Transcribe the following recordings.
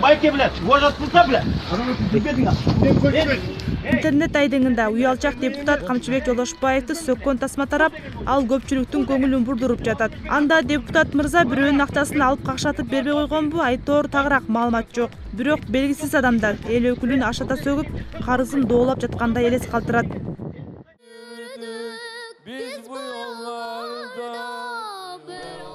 Байке, блядь, уважать кылса, блядь. Интернет айдыңында уялчак депутат Камчыбек Жолдошбаевди сөккөн тасма тарап, ал көпчүлүктүн көңүлүн бурдуруп жатат. Анда депутат мырза бирөөнүн акчасын алып какшатып бербей койгонбу, айтоор тагыраак маалымат жок. Бирок белгисиз адамдар эл өкүлүн ашата сөгүп, карызын доолап жаткандай элес калтырат.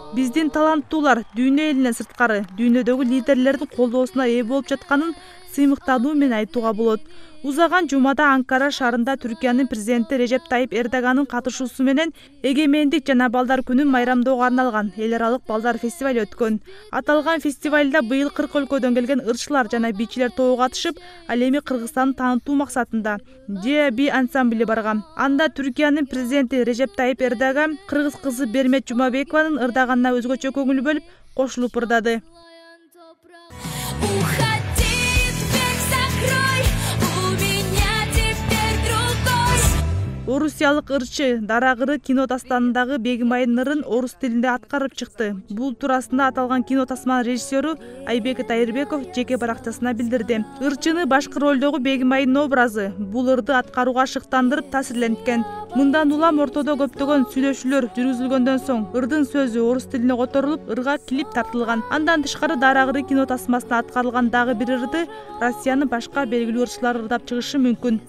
Биздин таланттуулар дүйнө элинен сырткары дүйнөдөгү лидерлердин колдоосуна ээ болуп жатканын сыймыктануу менен айтууга болот. Узаган жумада Анкара шаарында Түркиянын президенти Режеп Тайип Эрдоганын катышуусу менен Эгемендик жана Балдар күнүн майрамдоого арналган эл аралык балдар фестивали өткөн. Аталган фестивалда быйыл 40 өлкөдөн келген ырчылар жана бийчилер тобу катышып, ал эми Кыргызстанды таанытуу максатында DB ансамбле барган. Анда Түркиянын президенти Режеп Тайип Эрдоган кыргыз кызы Бермет Жумабекованын ырдаганына өзгөчө көңүл бөлүп, кошулуп ырдады. Орусиялык ырчы Дарагыры кино дастанындагы Бегимайдын ырын орус тилинде аткарып чыкты. Бул туурасында аталган кино тасманын режиссеру Айбек Тайырбеков жеке баракчасына билдирди. Ырчыны башкы ролдогу Бегимайдын образы бул ырды аткарууга шыктандырып таасирленткен. Мындан улам ортодо көптөгөн сүйлөшүүлөр жүргүзүлгөндөн соң ырдын сөзү орус тилине которулуп, ырга клип тартылган. Андан тышкары Дарагыры кино тасмасына аткарылган дагы бир ырды Россиянын башка белгилүү ырчылары ырдап чыгышы мүмкүн.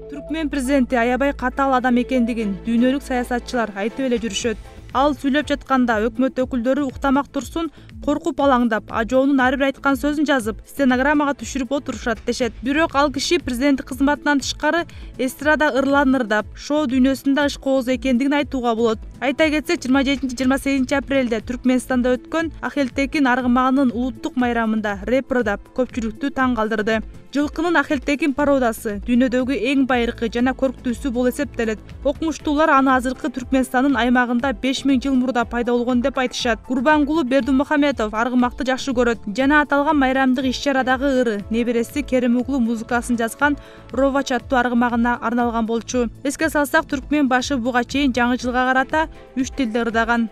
Түркмен президенти аябай катаал адам экендигин дүйнөлүк саясатчылар айтып эле жүрүшөт. Ал сүйлөп жатканда өкмөт өкүлдөрү уктамак турсун, коркуп алаңдап, ажоонун ар бир айткан сөзүн жазып, стенограммага түшүрүп отурушат дешет. Бирок ал киши президенттик кызматынан тышкары эстрада ырларын ырдап, шоу дүйнөсүндө ышкоозу экендигин айтууга болот. Айта кетсек, 27-28 апрелде Түркменстанда өткөн Ахелтекин аргымагынын улуттук майрамында рэп ырдап, көпчүлүктү таң калтырды. Жылкынын Ахелтекин пародасы дүйнөдөгү эң байыркы жана көрктүүсү болуп эсептелет. Окумуштуулар аны азыркы Түркменстандын аймагында 5000 жыл мурда пайда болгон деп айтышат. Курбангулу Бердимухамедов аргымакты жакшы көрөт жана аталган майрамдык иш-чарадагы ыры небереси Керимоглу музыкасын жазган Ровач аттуу аргымагына арналган болчу. Эске салсак, түркмен башы буга чейин жаңы жылга карата 3 тилде ырдаган.